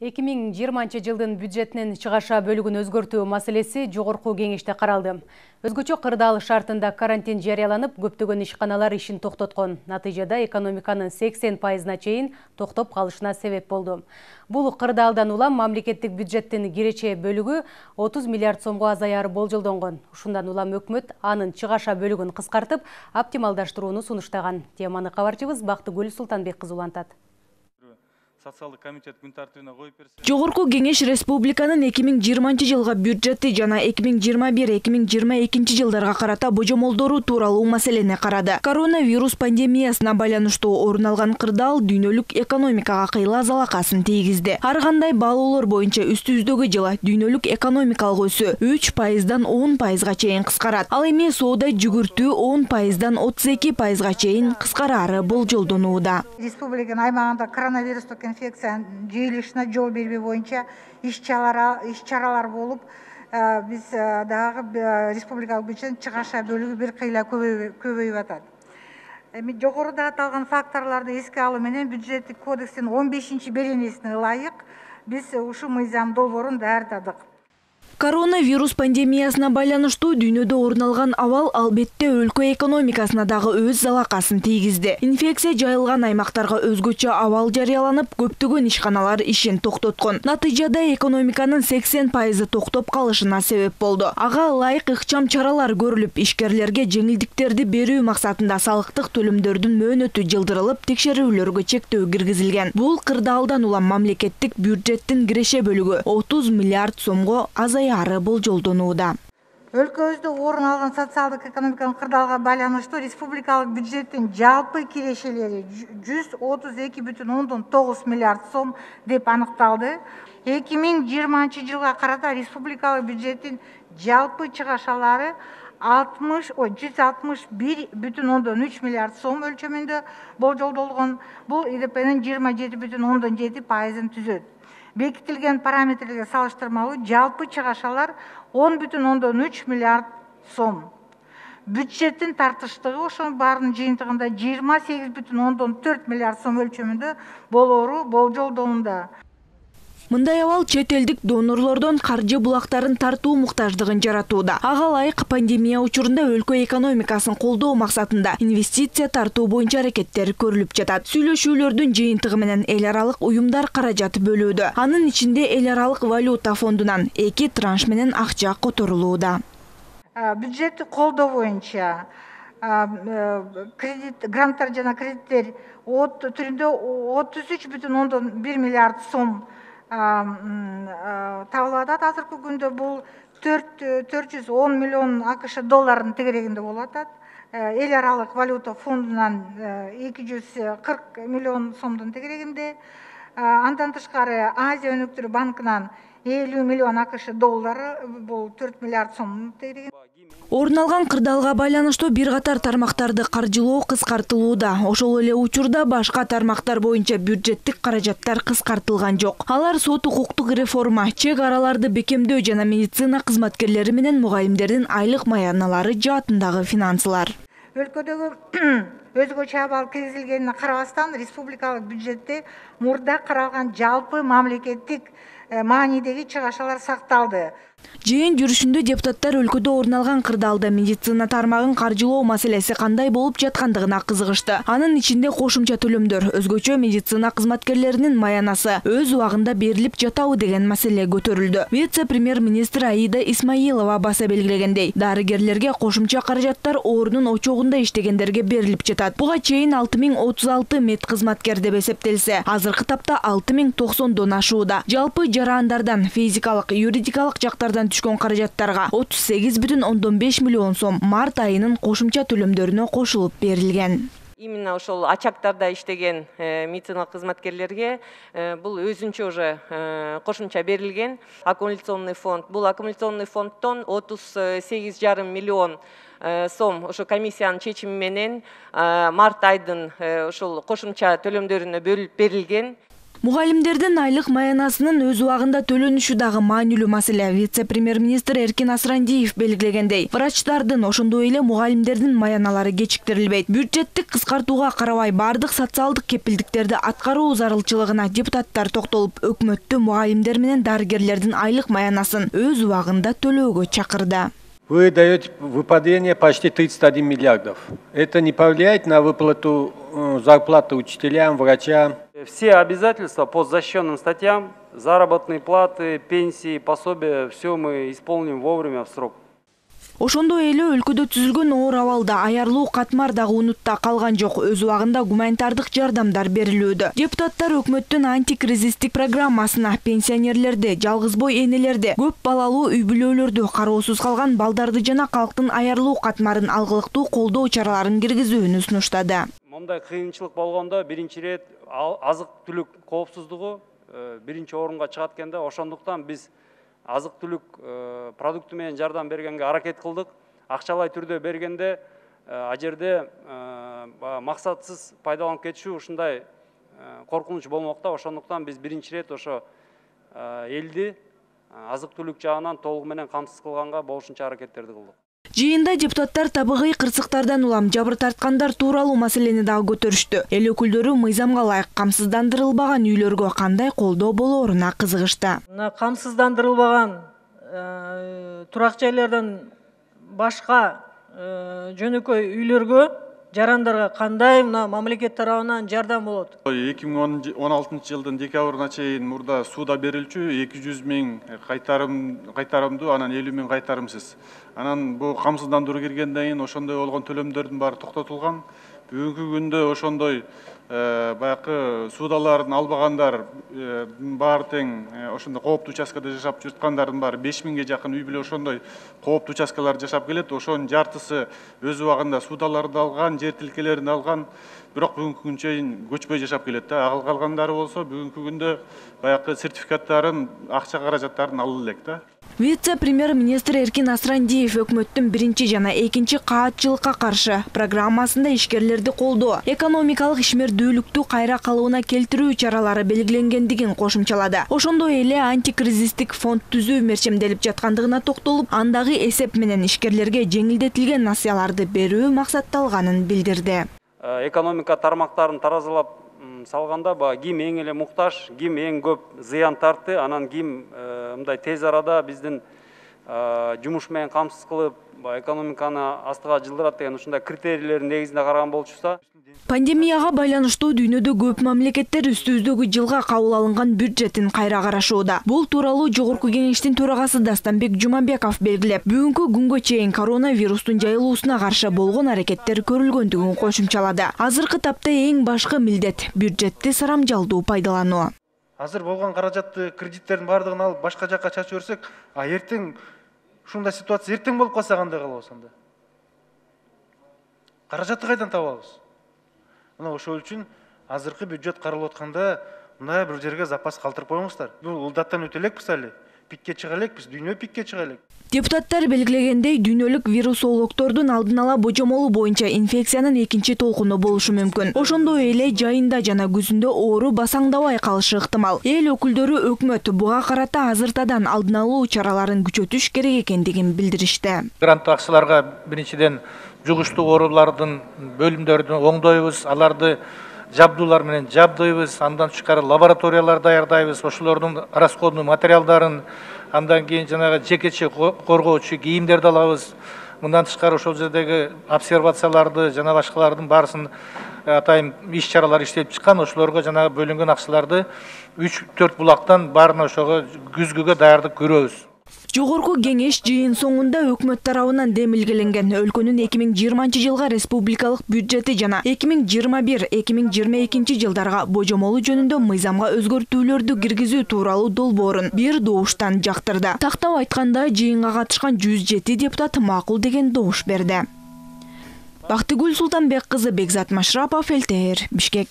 2020 жылдын бюджетинин чыгаша бөлүгүн өзгөртүү маселеси жогорку кеңеште каралды. Өзгөчө кырдаал шартында карантин жарыяланып, көптөгөн ишканалар ишин токтоткон. Натыйжада экономиканын 80%-на чейин токтоп калышына себеп болду. Бул кырдаалдан улам мамлекеттик бюджеттин киреше бөлүгү 30 миллиард сомго азаяры болжолдонгон. Ушундан улам өкмөт анын чыгаша бөлүгүн кыскартып, оптималдаштырууну сунуштаган. Теманы кабарчыбыз Бактыгүл Султанбек кызы улантат. Социалдык комитет күн тартибине коюп берсе. Жогорку кеңеш республиканын 2020 жылга бюджети жана 2021-2022 жылдарга карата божомолдору тууралуу маселени карады. Коронавирус пандемиясына байланыштуу орун алган кырдаал дүйнөлүк экономикага кыйла залакасын тийгизди. Ар кандай баалоолор боюнча үстүбүздөгү жылы дүйнөлүк экономикалык өсүү 3%-дан 10%га чейин кыскарат. Ал эми соода жүгүртүү 10%-дан 32%га чейин кыскарары болжолдонууда. Республиканын аймагында коронавирустук инфекциянын жыйылышына жол бербөө боюнча иш-чаралар болуп, биз дагы республикалык бюджеттин чыгаша бөлүгү бир кыйла көбөйүп атат. Эми жогоруда аталган факторлорду эске алуу менен бюджеттик кодекстин 15-беренесине ылайык биз ушул мыйзам долбоорун даярдадык. Коронавирус пандемиясына байланыштуу дүйнөдө орун алган абал албетте өлкө экономикасына дагы өз залакасын тийгизди. Инфекция жайылган аймактарга өзгөчө абал жарыяланып, көптөгөн ишканалар ишин токтоткон. Натыйжада экономиканын 80% токтоп калышына себеп болду. Ага ылайык ыкчам чаралар көрүлүп, ишкерлерге жеңилдиктерди берүү максатында салыктык төлөмдөрдүн мөөнөтү жылдырылып, текшерүүлөргө чектөө киргизилген. Бул кырдаалдан улам мамлекеттик бюджеттин киреше бөлүгү 30 миллиард сомго азаяры болжолдонууда. Өлкөбүздө орун алган социалдык экономикалык кырдаалга байланыштуу республикалык бюджеттин жалпы кирешелери 132,9 миллиард сом деп аныкталды. 2020 жылга карата республикалык бюджеттин жалпы чыгашалары 161,3 миллиард сом өлчөмүндө болжолдолгон. Бул ИДПнын 27,7%-ын түзөт. Бекитилген параметрлерге салыштырмалуу жалпы чыгашалар 10,3 миллиард сом. Бюджеттин тартыштыгы ошонун баарынын жыйынтыгында 28,4 миллиард сом өлчөмүндө болоору болжолдонууда. Мындай абал чет элдик донорлордон каржы булактарын тартуу муктаждыгын жаратууда. Ага ылайык пандемия учурунда өлкө экономикасын колдоо максатында инвестиция тартуу боюнча аракеттер көрүлүп жатат. Сүйлөшүүлөрдүн жыйынтыгы менен эл аралык уюмдар каражат бөлүүдө. Анын ичинде эл аралык валюта фондунан 2 транш менен акча которулууда. Бюджетти колдоо боюнча гранттар жана кредиттер түрүндө 33,1 миллиард сом табылып атат. Азыркы күндө бул 410 миллион АКШ долларынын тегерегинде болуп атат. Эл аралык валюта фондунан 240 миллион сомдун тегерегинде. Андан тышкары Азия өнүктүрүү банкынан 50 миллион АКШ доллары, бул 4 миллиард сомдун тегерегинде. Орун алган кырдаалга байланыштуу бир катар тармактарды каржылоо кыскартылууда. Ошол эле учурда башка тармактар боюнча бюджеттик каражаттар кыскартылган жок. Алар сот укуктук реформа, чек араларды бекемдөө жана медицина кызматкерлери менен мугалимдердин айлык маяналары жаатындагы финансылар. Өлкөдөгү өзгөчө абал киргизилгенине карабастан республикалык бюджетте мурда каралган жалпы мамлекеттик маанидеги чыгашалар сакталды. Жыйын жүрүшүндө депутаттар өлкөдө орун алган кырдаалда медицина тармагын каржылоо маселеси кандай болуп жаткандыгына кызыгышты. Анын ичинде кошумча төлөмдөр, өзгөчө медицина кызматкерлеринин маянасы өз убагында берилип жатабы деген маселе көтөрүлдү. Вице-премьер-министр Аида Исмаилова баса белгилегендей, дарыгерлерге кошумча каражаттар оорунун очогунда иштегендерге берилип жатат. Буга чейин 6036 мед кызматкер деп эсептелсе, азыркы тапта 6090дон ашууда. Жалпы жараандардан, физикалык, юридикалык жактардан түшкөн каражаттарга 38,5 миллион сом март айынын кошумча төлөмдөрүнө кошулуп берилген. Именно ошол очактарда иштеген медицина кызматкерлерге бул өзүнчө уже кошумча берилген. Аккумуляционный фонд, бул аккумуляционный фонддон 38,5 миллион сом ошо комиссиянын чечими менен март айдын ошол кошумча төлөмдөрүнө бөлүп берилген. Мугалимдердин айлык маянасынын өз убагында төлөнүшү дагы маанилүү маселе. Вице-премьер-министр Эркин Асрандиев белгилегендей, врачтардын ошондой эле мугалимдердин маяналары кечиктирилбейт. Бюджеттик кыскартууга карабай бардык социалдык кепилдиктерди аткаруу зарылчылыгына депутаттар токтолуп, өкмөттү мугалимдер менен дарыгерлердин айлык маянасын өз убагында төлөөгө чакырды. Вы даете выпадение почти 31 миллиардов. Это не повлияет на выплату зарплаты учителям, врачам? Все обязательства по защищенным статьям, заработные платы, пенсии, пособия, все мы исполним вовремя в срок. Ошондой эле өлкөдө түзүлгөн оор абалда аярлуу катмар дагы унутта калган жок. Өз убагында гуманитардык жардамдар берилүүдө. Депутаттар өкмөттүн антикризистик программасына пенсионерлерди, жалгыз бой энелерди, көп балалуу үй бүлөлөрдү, кароосуз калган балдарды жана калктын аярлуу катмарын алгылыктуу колдоо чараларын киргизүүнү сунуштады. Мындай кыйынчылык болгондо биринчи ирет азык-түлүк коопсуздугу биринчи орунга чыгат экен да. Ошондуктан биз азык-түлүк продукты менен жардам бергенге аракет кылдык. Акчалай түрдө бергенде а жерде максатсыз пайдаланып кетишүү ушундай коркунуч болмокта. Ошондуктан биз биринчи ирет ошо элди азык-түлүк жагынан толугу менен камсыз кылганга болушунча аракеттерди кылдык. Жыйында депутаттар табигый кырсыктардан улам жабыр тарткандар тууралуу маселени дагы көтөрүштү. Эл өкүлдөрү мыйзамга ылайык камсыздандырылбаган үйлөргө кандай колдоо болооруна кызыгышты. Камсыздандырылбаган турак жайлардан башка жөнөкөй үйлөргө жарандарга кандай мамлекет тарабынан жардам болот? 2016 жылдын декабрына чейин мурда сууда берилчү 200 миң кайтарымдуу, анан 50 миң кайтарымсыз. Анан бул камсыздандыруу киргенден кийин ошондой болгон төлөмдөрдүн баары токтотулган. Бүгүнкү күндө ошондой баягы суудаларын албагандар баары тең ошондой кооптуу участкада жашап жаткандардын баары 5 миңге жакын үй бүлө ошондой кооптуу участкалар жашап келет. Ошонун жартысы өз убагында суудаларды алган, жер тилкелерин алган, бирок бүгүнкү күнгө чейин көчпөй жашап келет да. Калгандары болсо бүгүнкү күндө баягы сертификаттарын, акча каражаттарын ала элек да. Вице-премьер-министр Эркин Асрандиев өкмөттүн биринчи жана экинчи каатчылыкка каршы программасында ишкерлерди колдоо, экономикалык ишмердүүлүктү кайра калыбына келтирүү чаралары белгиленгендигин кошумчалады. Ошондой эле антикризистик фонд түзүү мерчемделип жаткандыгына токтолуп, андагы эсеп менен ишкерлерге жеңилдетилген насыяларды берүү максатталганын билдирди. Экономика тармактарын таразалап салганда ким эң эле муктаж, ким эң көп зыян тартты, анан ким мындай тез арада биздин жумуш менен камсыз кылып, экономиканы астыга жылдырат деген ушундай критерийлердин негизинде караган болчусузда. Пандемияга байланыштуу дүйнөдө көп мамлекеттер үстүбүздөгү жылга кабыл алынган бюджетин кайра карашууда. Бул тууралуу Жогорку Кеңештин төрагасы Дастанбек Жумабеков белгилеп, бүгүнкү күнгө чейин коронавирустун жайылуусуна каршы болгон аракеттер көрүлгөндүгүн кошумчалады. Азыркы тапта эң башкы милдет бюджетти сарамжалдуу пайдалануу. Азыр болгон каражатты, кредиттердин баардыгын алып башка жакка чачып берсек, эртең ушундай ситуация эртең болуп калса кандай кылабыз анда? Каражатты кайдан табабыз? Мына ошол үчүн азыркы бюджет каралып атканда мындай бир жерге запас калтырып коюңуздар. Бул ылдаттан өтө элекпиз али. Пикке чыга элекпиз, дүйнө пикке чыга элек. Депутаттар белгилегендей, дүйнөлүк вирусологдордун алдын ала божомолу боюнча инфекциянын экинчи толкуну болушу мүмкүн. Ошондой эле жайында жана күзүндө оору басаңдабай калышы ыктымал. Эл өкүлдөрү өкмөт буга карата азыртадан алдын алуу чараларын күчөтүш керек экендигин билдиришти. Гранттуу акчаларга биринчиден жугуштуу оорулардын бөлүмдөрүн оңдойбуз, аларды жабдуулар менен жабдыйбыз, андан тышкары лабораториялар даярдайбыз, ошолордун расходный материалдарын, андан кийин жанагы жекече коргоочу кийимдерди алабыз. Мындан тышкары ошол жердеги обсервацияларды жана башкалардын баарысын атайын иш-чаралар иштелип чыккан, ошолорго жанагы бөлүнгөн акчаларды 3-4 булактан баарына ошого күзгүгө даярдык көрөбүз. Жогорку кеңеш жыйын соңунда өкмөт тарабынан демилгеленген өлкөнүн 2020 жылга республикалык бюджети жана 2021-2022 жылдарга божомолу жөнүндө мыйзамга өзгөртүүлөрдү киргизүү тууралуу долбоорун бир добуштан жактырды. Тактап айтканда, жыйынга катышкан 107 депутат макул деген добуш берди. Бактыгүл Султанбек кызы, Бекзат Машрапов, ЛТР, Бишкек.